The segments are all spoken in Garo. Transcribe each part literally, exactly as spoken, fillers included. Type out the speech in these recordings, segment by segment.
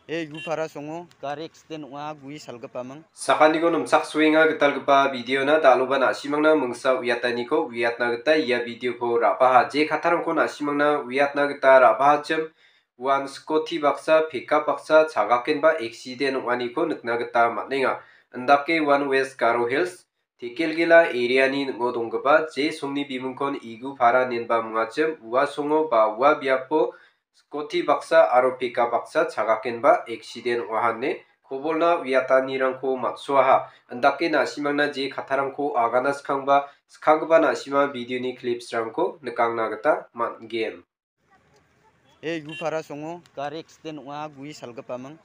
E, Igupara songo gari accident ong·a, gue salgipaming. Sakaniko nimchaksoenga gitalgipa videona, dal·oba na·simangna mingsa uiataniko uiatna gita ia videoko ra·baha. Je kattarangko na·simangna uiatna gita ra·bahachim, uan scooty baksa, pickup baksa chagakenba accident ong·aniko nikna gita man·enga. Indake uan West Garo Hills, Tekelgela areani ning·o donggipa je songni bimingkon Igupara inenba mingachim, ua songo ba ua biapo scooty baksa aro pickup baksa chagakenba accident ong·aha ine kobolna uiatanirangko man·soaha. Indake na·simangna je kattarangko agana skangba, skanggipa na·sima videoni clipsrangko nikangna gita man·gen. E, Igupara songo gari accident ong·a, gue salgipaming.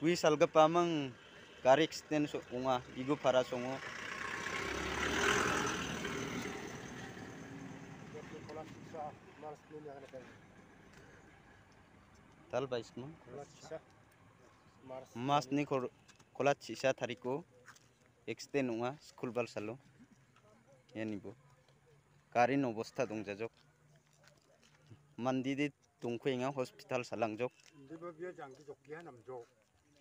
Gue salgipaming gari accident so-, ong·a, Igupara songo. Tal baisma. Masni kol-, kolat chisa tariko accident ong·a, skul balsalo. Ianibo. Garini obosta dongjajok. Mandide dongkuenga, hospital salangjok. Indiba bia jangki jokki ha namjok.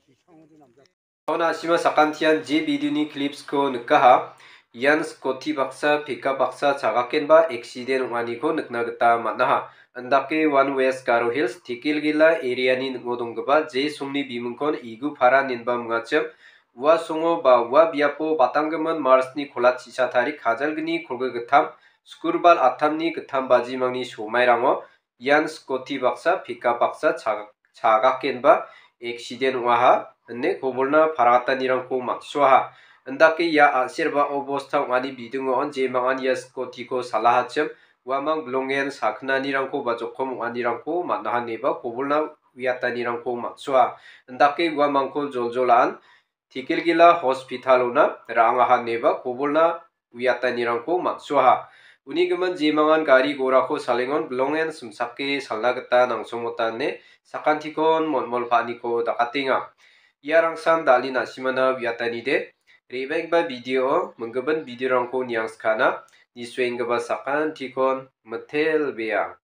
Sisang ode namjak. Auna asima sakantian je videoni clipsko nikaha. Ian scooty baksa, pickup baksa chagakenba accident ong·aniko nikna gita man·aha. Indake uan West Garo Hills, Tekelgela areani ning·o donggipa je songni bimingkon Igupara inenba mingachim, ua songo ba ua biapo batanggimin Marchni kolat chisa tarik kajalgni kolgrik gittam, skurbal attamni gittam bajimangni somairango ian scooty baksa, pickup baksa chag-, chagakenba accident ong·aha ine kobolna paratanirangko man·soaha. Indake ia a·serba obosta ong·ani bidingo on jemangan ia scootyko salahachim, uamang bilongen sakgnanirangko ba jokom ong·anirangko man·aha ineba kobolna uiatanirangko man·soa. Indake uamangko joljola-an Tekelgela hospitalona ra·angaha ineba kobolna uiatanirangko man·soaha. Uni gimin jemangan gari gorako salengon bilongen simsake salna gita nangsongmota ine sakantikon molmol pa·aniko dakatenga. Iarangsan dal·e na·simana uiatanide. Re·baenggipa video, minggimin videorangko niangskana, nisuenggipa sakantikon mitelbea.